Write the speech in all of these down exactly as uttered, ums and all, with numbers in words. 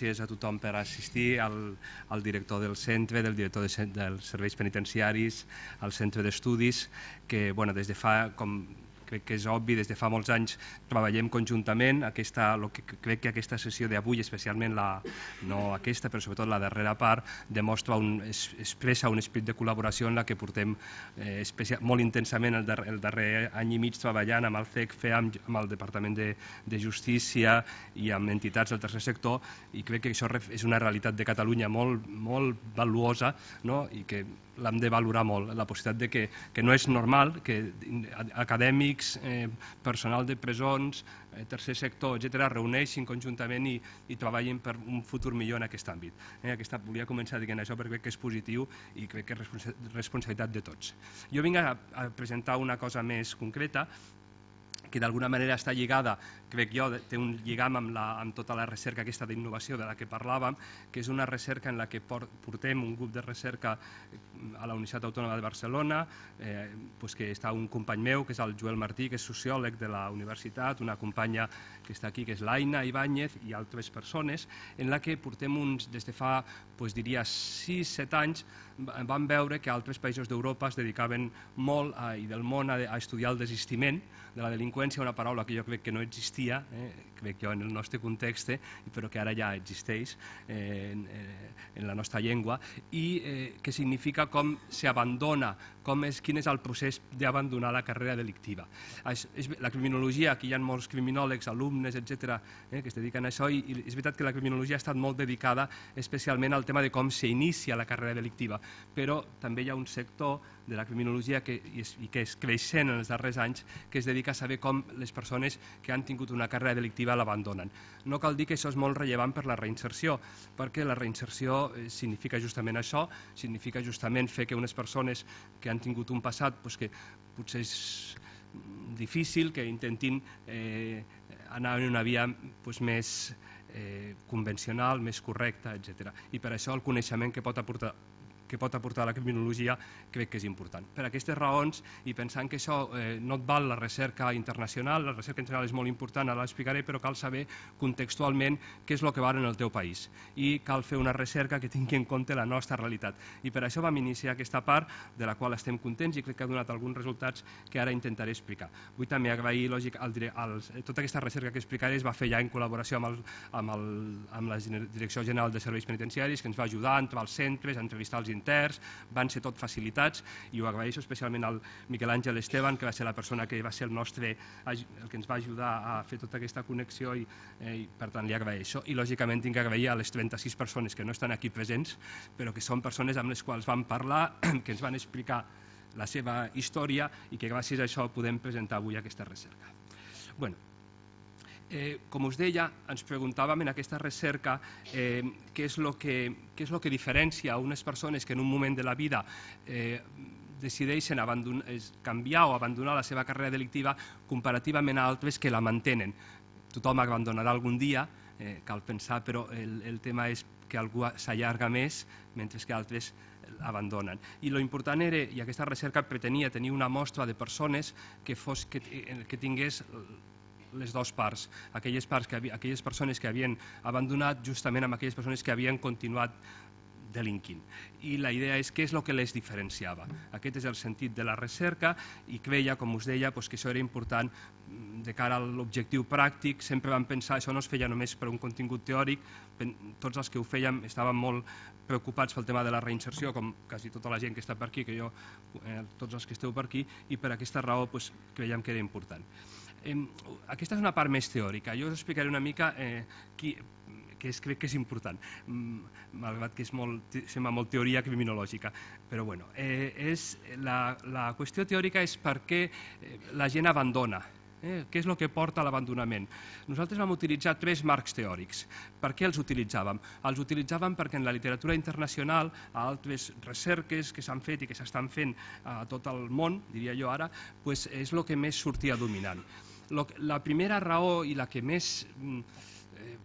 gràcies a tothom per assistir, al, al director del centre, del director de, dels serveis penitenciaris, al centre d'estudis, que bueno, des de fa, com crec que és obvi, des de fa molts anys treballem conjuntament. Aquesta, lo que crec que aquesta sessió d'avui, especialment la, no aquesta, però sobretot la darrera part, demostra un, es, expressa un esperit de col·laboració en la que portem eh, especial, molt intensament el darrer, el darrer any i mig treballant amb el C E C F E, amb, amb el Departament de, de Justícia i amb entitats del tercer sector, i crec que això és una realitat de Catalunya molt, molt valuosa, no? I que l'hem de valorar molt, la possibilitat de que, que no és normal que acadèmics, eh, personal de presons, eh, tercer sector, etcètera, reuneixin conjuntament i, i treballin per un futur millor en aquest àmbit. Eh, aquesta, volia començar dient això perquè crec que és positiu i crec que és responsa responsabilitat de tots. Jo vinc a, a presentar una cosa més concreta, que d'alguna manera està lligada, crec jo, té un lligam amb, la, amb tota la recerca aquesta d'innovació de la que parlàvem, que és una recerca en la que portem un grup de recerca a la Universitat Autònoma de Barcelona, eh, pues que està un company meu, que és el Joel Martí, que és sociòleg de la universitat, una companya que està aquí, que és l'Aina Ibáñez, i altres persones, en la que portem uns, des de fa, pues diria, sis set anys, vam veure que altres països d'Europa es dedicaven molt a, i del món a, a estudiar el desistiment de la delinqüència, una paraula que jo crec que no existia, eh, crec jo en el nostre context, eh, però que ara ja existeix eh, en, en la nostra llengua, i eh, que significa com s'abandona, com és, quin és el procés d'abandonar la carrera delictiva. És, és, la criminologia, aquí hi ha molts criminòlegs, alumnes, etcètera, eh, que es dediquen a això, i, i és veritat que la criminologia ha estat molt dedicada especialment al tema de com s'inicia la carrera delictiva, però també hi ha un sector de la criminologia que, i, i que és creixent en els darrers anys, que es dedica a saber com les persones que han tingut una carrera delictiva l'abandonen. No cal dir que això és molt rellevant per la reinserció, perquè la reinserció significa justament això, significa justament fer que unes persones que han tingut un passat pues, que potser és difícil, que intentin eh, anar en una via pues, més eh, convencional, més correcta, etcètera. I per això el coneixement que pot aportar que pot aportar la criminologia crec que és important. Per aquestes raons, i pensant que això eh, no et val la recerca internacional, la recerca internacional és molt important, ara l'explicaré, però cal saber contextualment què és el que val en el teu país, i cal fer una recerca que tingui en compte la nostra realitat. I per això vam iniciar aquesta part, de la qual estem contents i crec que ha donat alguns resultats que ara intentaré explicar. Vull també agrair, lògic, al, al, tota aquesta recerca que explicaré es va fer ja en col·laboració amb, el, amb, el, amb la Direcció General de Serveis Penitenciaris, que ens va ajudar a entrar als centres, a entrevistar els interns, van ser tot facilitats, i ho agraeixo especialment al Miquel Àngel Esteban, que va ser la persona que va ser el nostre, el que ens va ajudar a fer tota aquesta connexió, i, eh, i per tant li agraeixo. I lògicament tinc que agrair a les trenta-sis persones que no estan aquí presents, però que són persones amb les quals vam parlar, que ens van explicar la seva història i que gràcies a això podem presentar avui aquesta recerca. Bueno, Eh, com us deia, ens preguntàvem en aquesta recerca eh, què és el que, què és lo que diferencia unes persones que en un moment de la vida eh, decideixen canviar o abandonar la seva carrera delictiva comparativament a altres que la mantenen. Tothom abandonarà algun dia, eh, cal pensar, però el, el tema és que algú s'allarga més mentre que altres abandonen. I lo important era, i aquesta recerca pretenia tenir una mostra de persones que, fos, que, que tingués les dues parts, aquelles, parts que, aquelles persones que havien abandonat justament amb aquelles persones que havien continuat delinquint. I la idea és què és el que les diferenciava. Aquest és el sentit de la recerca, i creia, com us deia, que això era important de cara a l'objectiu pràctic. Sempre vam pensar, això no es feia només per un contingut teòric, tots els que ho fèiem estàvem molt preocupats pel tema de la reinserció, com quasi tota la gent que està per aquí, que jo, eh, tots els que esteu per aquí, i per aquesta raó pues, creiem que era important. Eh, aquesta és una part més teòrica. Jo us explicaré una mica eh, qui, que és, crec que és important, malgrat que és molt, sembla molt teoria criminològica, però bueno, eh, és, la, la qüestió teòrica és per què la gent abandona, eh, què és el que porta a l'abandonament. Nosaltres vam utilitzar tres marcs teòrics. Per què els utilitzàvem? Els utilitzàvem perquè en la literatura internacional, a altres recerques que s'han fet i que s'estan fent a tot el món, diria jo ara, pues és el que més sortia dominant. La primera raó i la que més eh,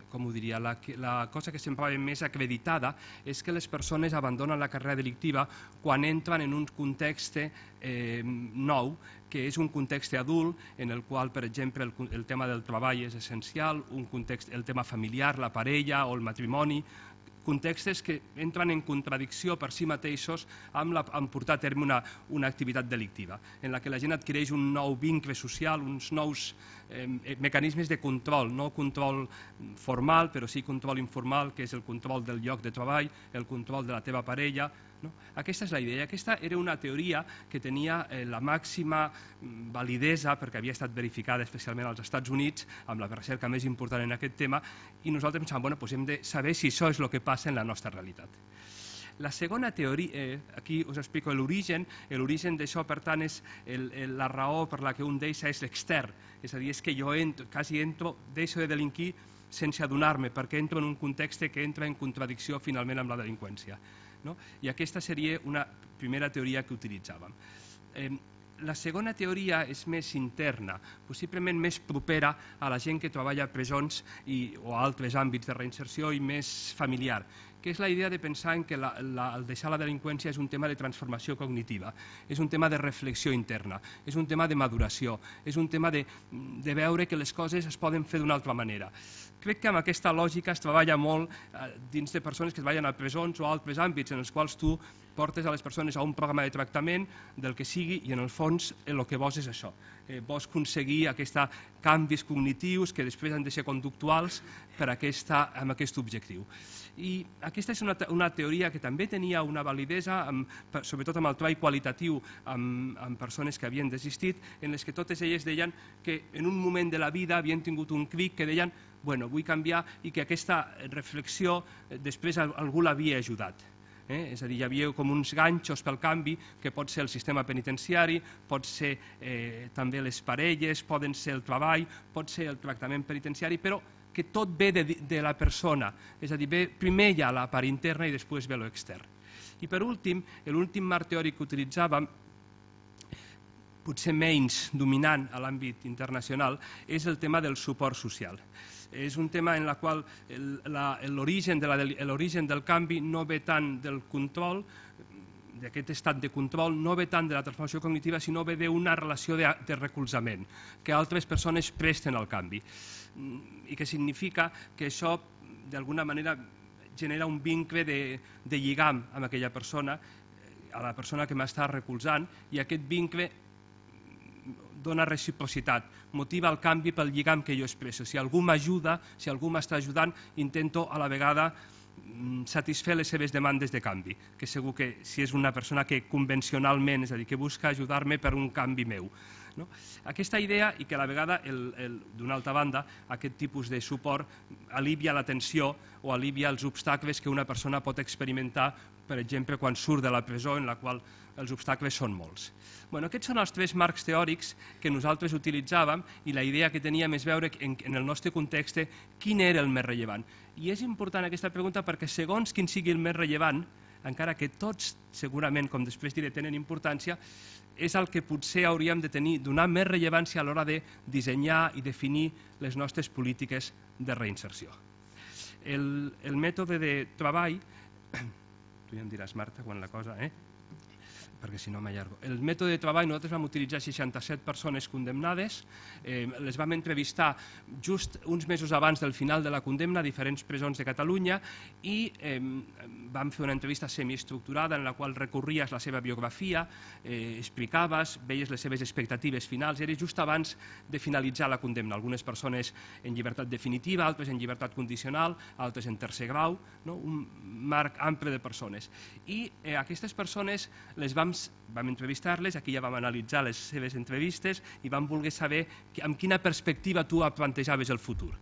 com ho diria, la, la cosa que semblava més acreditada és que les persones abandonen la carrera delictiva quan entren en un context eh, nou, que és un context adult en el qual, per exemple, el, el tema del treball és essencial, un context, el tema familiar, la parella o el matrimoni, contextes que entren en contradicció per si mateixos amb, la, amb portar a terme una, una activitat delictiva, en la que la gent adquireix un nou vincle social, uns nous eh, mecanismes de control, no control formal, però sí control informal, que és el control del lloc de treball, el control de la teva parella. No? Aquesta és la idea. Aquesta era una teoria que tenia eh, la màxima validesa perquè havia estat verificada especialment als Estats Units amb la recerca més important en aquest tema, i nosaltres pensàvem, bueno, doncs hem de saber si això és el que passa en la nostra realitat. La segona teoria, eh, aquí us explico l'origen, l'origen d'això per tant és el, el, la raó per la que un deixa és l'extern, és a dir, és que jo entro, quasi entro, deixo de delinquir sense adonar-me, perquè entro en un context que entra en contradicció finalment amb la delinqüència. No? I aquesta seria una primera teoria que utilitzàvem. Eh, la segona teoria és més interna, possiblement més propera a la gent que treballa a presons i, o a altres àmbits de reinserció i més familiar, que és la idea de pensar en que la, la, el deixar la delinqüència és un tema de transformació cognitiva, és un tema de reflexió interna, és un tema de maduració, és un tema de, de veure que les coses es poden fer d'una altra manera. Crec que amb aquesta lògica es treballa molt eh, dins de persones que treballen a presons o a altres àmbits en els quals tu portes a les persones a un programa de tractament del que sigui i en el fons el que vols és això. Eh, vols aconseguir aquests canvis cognitius que després han de ser conductuals per aquesta, amb aquest objectiu. I aquesta és una, una teoria que també tenia una validesa, amb, sobretot amb el treball qualitatiu amb, amb persones que havien desistit, en les que totes elles deien que en un moment de la vida havien tingut un clic que deien bueno, vull canviar, i que aquesta reflexió després algú l'havia ajudat. Eh? És a dir, hi havia com uns ganxos pel canvi, que pot ser el sistema penitenciari, pot ser eh, també les parelles, poden ser el treball, pot ser el tractament penitenciari, però que tot ve de, de la persona, és a dir, ve, primer hi ha la part interna i després ve l'extern. I per últim, l'últim marc teòric que utilitzàvem, potser menys dominant a l'àmbit internacional, és el tema del suport social. És un tema en el qual l'origen de del canvi no ve tant del control, d'aquest estat de control, no ve tant de la transformació cognitiva, sinó ve d'una relació de, de recolzament, que altres persones presten al canvi. I que significa que això, d'alguna manera, genera un vincle de, de lligam amb aquella persona, a la persona que m'està recolzant, i aquest vincle dona reciprocitat, motiva el canvi pel lligam que jo expresso. Si algú m'ajuda, si algú m'està ajudant, intento a la vegada satisfer les seves demandes de canvi, que segur que si és una persona que convencionalment, és a dir, que busca ajudar-me per un canvi meu. No? Aquesta idea, i que a la vegada, d'una altra banda, aquest tipus de suport alivia la tensió o alivia els obstacles que una persona pot experimentar, per exemple, quan surt de la presó, en la qual els obstacles són molts. Bueno, aquests són els tres marcs teòrics que nosaltres utilitzàvem, i la idea que teníem és veure en, en el nostre context quin era el més rellevant. I és important aquesta pregunta perquè segons quin sigui el més rellevant, encara que tots segurament, com després diré, tenen importància, és el que potser hauríem de tenir, donar més rellevància a l'hora de dissenyar i definir les nostres polítiques de reinserció. El, el mètode de treball, tu ja em diràs, Marta, quan la cosa, eh? perquè si no m'allargo. El mètode de treball, nosaltres vam utilitzar seixanta-set persones condemnades, eh, les vam entrevistar just uns mesos abans del final de la condemna a diferents presons de Catalunya, i eh, vam fer una entrevista semiestructurada en la qual recorries la seva biografia, eh, explicaves, veies les seves expectatives finals, era just abans de finalitzar la condemna. Algunes persones en llibertat definitiva, altres en llibertat condicional, altres en tercer grau, no? Un marc ample de persones. I eh, aquestes persones les vam vam entrevistar-les, aquí ja vam analitzar les seves entrevistes i vam voler saber amb quina perspectiva tu plantejaves el futur,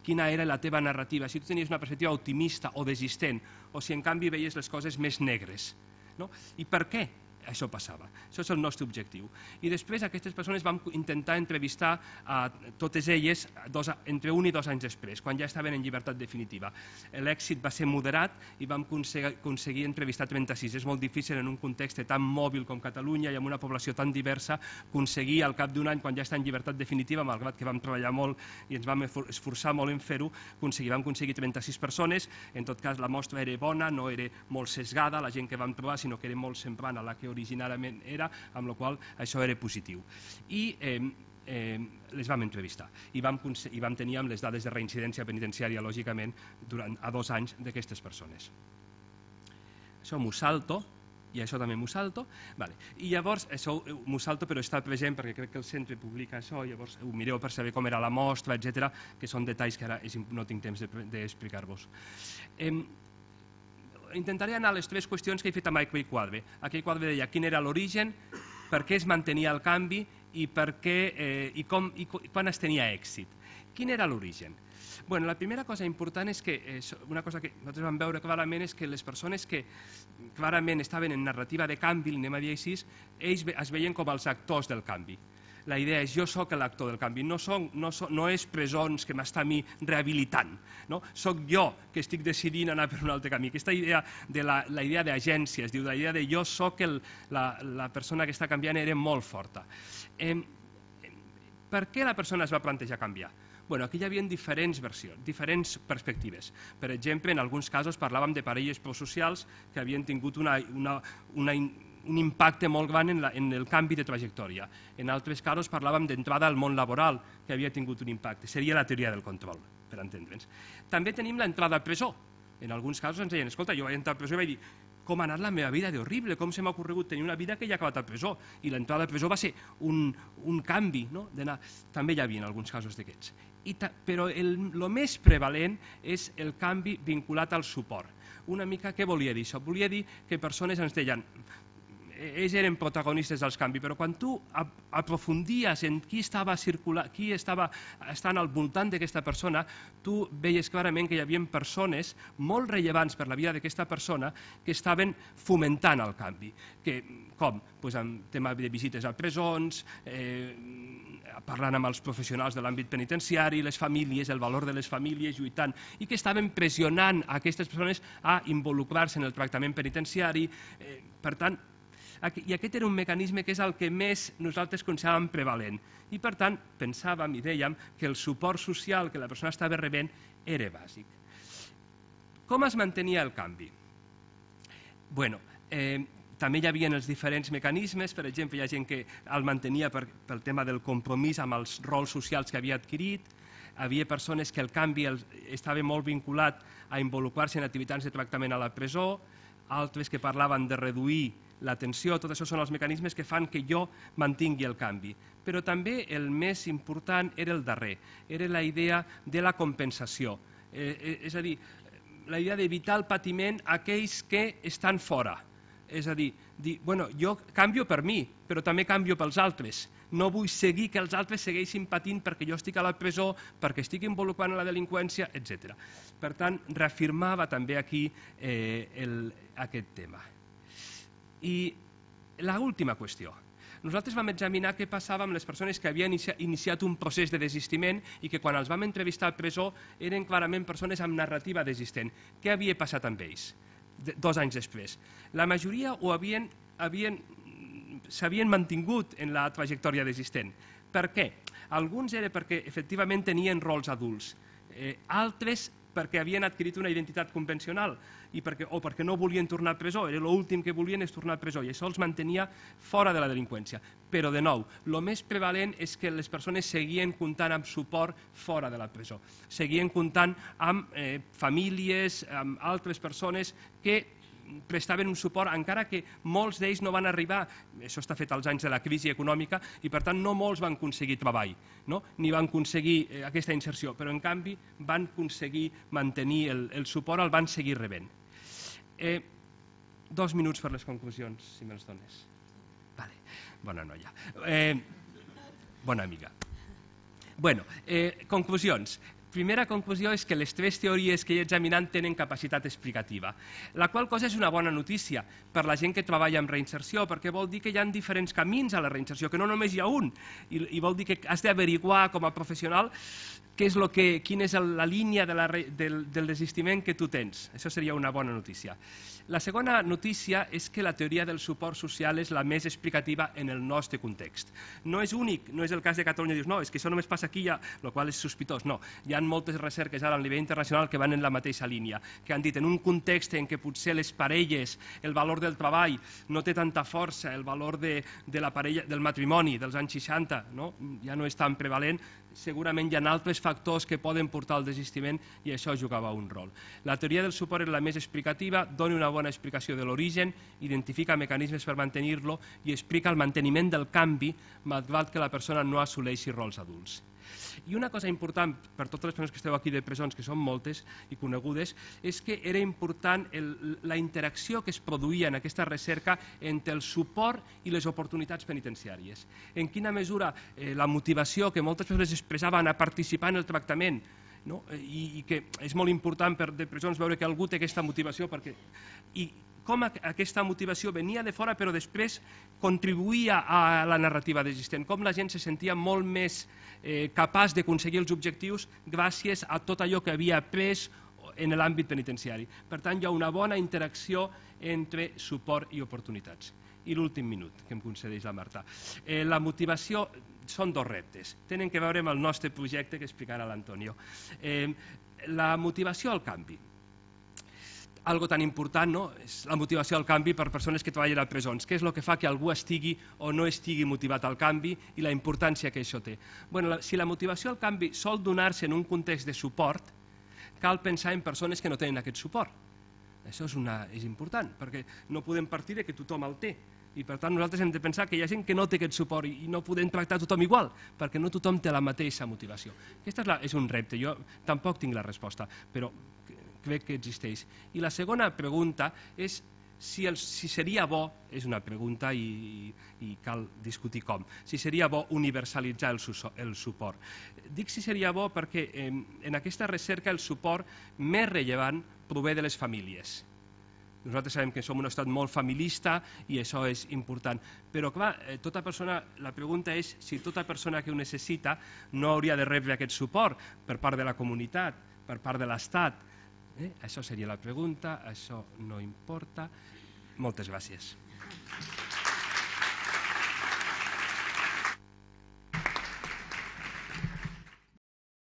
quina era la teva narrativa, si tu tenies una perspectiva optimista o desistent, o si en canvi veies les coses més negres. No? I per què això passava. Això és el nostre objectiu. I després aquestes persones vam intentar entrevistar a totes elles dos, entre un i dos anys després, quan ja estaven en llibertat definitiva. L'èxit va ser moderat i vam aconseguir entrevistar trenta-sis. És molt difícil en un context tan mòbil com Catalunya i amb una població tan diversa aconseguir al cap d'un any, quan ja està en llibertat definitiva, malgrat que vam treballar molt i ens vam esforçar molt en fer-ho, vam aconseguir trenta-sis persones. En tot cas, la mostra era bona, no era molt sesgada, la gent que vam trobar, sinó que era molt semblant a la que originàriament era, amb la qual això era positiu. I eh, eh, les vam entrevistar i vam, i vam tenir les dades de reincidència penitenciària, lògicament, durant a dos anys d'aquestes persones. Això m'ho salto, i això també m'ho salto. Vale. I llavors, això m'ho salto, però està present perquè crec que el centre publica això, llavors ho mireu per saber com era la mostra, etcètera, que són detalls que ara no tinc temps d'explicar-vos. Eh, Intentaré anar a les tres qüestions que he fet amb aquell quadre. Aquell quadre deia quin era l'origen, per què es mantenia el canvi i, per què, eh, i, com, i quan es tenia èxit. Quin era l'origen? Bueno, la primera cosa important és que, eh, una cosa que nosaltres vam veure clarament és que les persones que clarament estaven en narrativa de canvi, anem a dir així, ells es veien com els actors del canvi. La idea és jo sóc l'actor del canvi, no, som, no, som, no és presons que m'està a mi rehabilitant, no? Soc jo que estic decidint anar per un altre camí. Aquesta idea de la, la idea d'agència, es diu, la idea de jo sóc el, la, la persona que està canviant era molt forta. Eh, per què la persona es va plantejar canviar? Bueno, aquí hi havia diferents versions, diferents perspectives. Per exemple, en alguns casos parlàvem de parelles prosocials que havien tingut una, una, una un impacte molt gran en, la, en el canvi de trajectòria. En altres casos parlàvem d'entrada al món laboral, que havia tingut un impacte. Seria la teoria del control, per entendre'ns. També tenim l'entrada a presó. En alguns casos ens deien, escolta, jo vaig entrar a presó i vaig dir com ha anat la meva vida d'horrible, com se m'ha ocorregut tenir una vida que ja ha acabat a presó. I l'entrada a presó va ser un, un canvi, no? També hi havia alguns casos d'aquests. Però el, el més prevalent és el canvi vinculat al suport. Una mica què volia dir això? Volia dir que persones ens deien ells eren protagonistes dels canvis, però quan tu aprofundies en qui estava circulant, qui estava estant al voltant d'aquesta persona, tu veies clarament que hi havia persones molt rellevants per la vida d'aquesta persona que estaven fomentant el canvi. Que, com? Pues amb tema de visites a presons, eh, parlant amb els professionals de l'àmbit penitenciari, les famílies, el valor de les famílies, lluitant, i que estaven pressionant a aquestes persones a involucrar-se en el tractament penitenciari. Eh, per tant, i aquest era un mecanisme que és el que més nosaltres consideràvem prevalent. I per tant pensàvem i dèiem que el suport social que la persona estava rebent era bàsic. Com es mantenia el canvi? Bueno, eh, també hi havia els diferents mecanismes, per exemple, hi ha gent que el mantenia per, pel tema del compromís amb els rols socials que havia adquirit, hi havia persones que el canvi estava molt vinculat a involucrar-se en activitats de tractament a la presó, altres que parlaven de reduir l'atenció, tot això són els mecanismes que fan que jo mantingui el canvi. Però també el més important era el darrer, era la idea de la compensació. Eh, és a dir, la idea d'evitar el patiment a aquells que estan fora. És a dir, dir, bueno, jo canvio per mi, però també canvio pels altres. No vull seguir que els altres segueixin patint perquè jo estic a la presó, perquè estic involucrant en la delinqüència, etcètera. Per tant, reafirmava també aquí eh, el, aquest tema. I l'última qüestió. Nosaltres vam examinar què passava amb les persones que havien iniciat un procés de desistiment i que quan els vam entrevistar a presó eren clarament persones amb narrativa desistent. Què havia passat amb ells dos anys després? La majoria ho havien, havien, s'havien mantingut en la trajectòria desistent. Per què? Alguns era perquè efectivament tenien rols adults, eh, altres perquè havien adquirit una identitat convencional i perquè, o perquè no volien tornar a presó, era l'últim que volien és tornar a presó i això els mantenia fora de la delinqüència. Però de nou, el més prevalent és que les persones seguien comptant amb suport fora de la presó, seguien comptant amb eh, famílies, amb altres persones que prestaven un suport, encara que molts d'ells no van arribar, això està fet als anys de la crisi econòmica, i per tant no molts van aconseguir treball, no? Ni van aconseguir eh, aquesta inserció, però en canvi van aconseguir mantenir el, el suport, el van seguir rebent. Eh, dos minuts per les conclusions, si me'ls dones. Vale. Bona noia. Eh, bona amiga. Bueno, eh, conclusions. primera conclusió és que les tres teories que he examinat tenen capacitat explicativa, la qual cosa és una bona notícia per la gent que treballa en reinserció, perquè vol dir que hi ha diferents camins a la reinserció, que no només hi ha un, i, i vol dir que has d'averiguar com a professional què és lo que, quina és la línia de la, del, del desistiment que tu tens. Això seria una bona notícia. La segona notícia és que la teoria del suport social és la més explicativa en el nostre context. No és únic, no és el cas de Catalunya, dius, no, és que això només passa aquí, ja, el qual és sospitós. No, hi ha moltes recerques ara a nivell internacional que van en la mateixa línia, que han dit en un context en què potser les parelles, el valor del treball no té tanta força, el valor de, de la parella, del matrimoni dels anys seixanta, no? Ja no és tan prevalent, segurament hi ha altres factors que poden portar al desistiment i això jugava un rol. La teoria del suport és la més explicativa, dona una bona explicació de l'origen, identifica mecanismes per mantenir-lo i explica el manteniment del canvi malgrat que la persona no assoleixi rols adults. I una cosa important per totes les persones que esteu aquí de presons, que són moltes i conegudes, és que era important el, la interacció que es produïa en aquesta recerca entre el suport i les oportunitats penitenciàries. En quina mesura eh, la motivació que moltes persones expressaven a participar en el tractament, no? I, i que és molt important per de presons veure que algú té aquesta motivació perquè... I, com aquesta motivació venia de fora però després contribuïa a la narrativa existent, com la gent se sentia molt més eh, capaç d'aconseguir els objectius gràcies a tot allò que havia après en l'àmbit penitenciari. Per tant, hi ha una bona interacció entre suport i oportunitats. I l'últim minut que em concedeix la Marta. Eh, la motivació són dos reptes. Tenen que veure amb el nostre projecte que explicarà l'Antonio. Eh, la motivació al canvi. Algo tan important, no? És la motivació al canvi per persones que treballen a presons. Què és el que fa que algú estigui o no estigui motivat al canvi i la importància que això té? Bueno, la, si la motivació al canvi sol donar-se en un context de suport, cal pensar en persones que no tenen aquest suport. Això és, una, és important, perquè no podem partir de que tothom el té. I per tant nosaltres hem de pensar que hi ha gent que no té aquest suport i no podem tractar tothom igual, perquè no tothom té la mateixa motivació. Aquesta és, la, és un repte, jo tampoc tinc la resposta, però crec que existeix. I la segona pregunta és si, el, si seria bo, és una pregunta i, i cal discutir com, si seria bo universalitzar el, el suport. Dic si seria bo perquè eh, en aquesta recerca el suport més rellevant prové de les famílies. Nosaltres sabem que som un estat molt familista i això és important, però clar, tota persona, la pregunta és si tota persona que ho necessita no hauria de rebre aquest suport per part de la comunitat, per part de l'Estat. Eh? Això seria la pregunta, això no importa. Moltes gràcies.